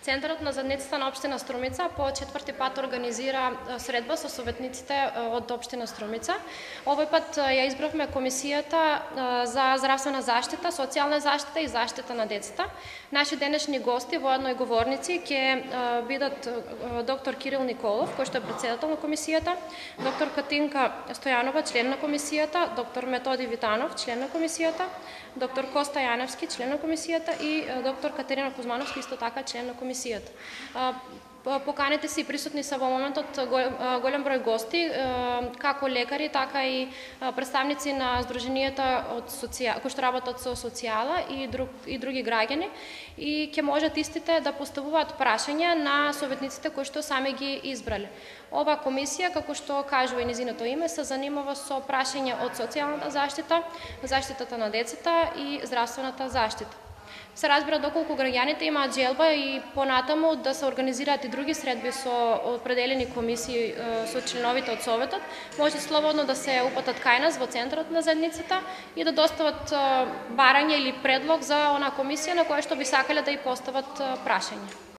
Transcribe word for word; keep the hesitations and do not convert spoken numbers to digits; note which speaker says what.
Speaker 1: Центарот на заедницата на општина Струмица по четврти пат организира средба со советниците од општина Струмица. Овој пат ја избравме комисијата за здравствена заштита, социјална заштита и заштита на децата. Наши денешни гости, воедно и говорници, ќе бидат доктор Кирил Николов, кој што е претседател на комисијата, доктор Катинка Стојанова, член на комисијата, доктор Методи Витанов, член на комисијата, доктор Коста Јаневски, член на комисијата и доктор Катерина Кузмановски, исто така член на комисијата. Поканите си присутни се во моментот голем број гости, како лекари, така и представници на здруженијата од социјала, кои што работат со социјала и друг и други граѓани, и ќе можат истите да поставуваат прашања на советниците кои што сами ги избрале. Ова комисија, како што кажува и низиното име, се занимава со прашања од социјалната заштита, заштитата на децата и здравствената заштита. Се разбира доколку граѓаните имаат желба и понатаму да се организираат и други средби со определени комисии со членовите од советот, може слободно да се упатат кај нас во центарот на заедницата и да достават барање или предлог за онаа комисија на која што би сакале да и постават прашање.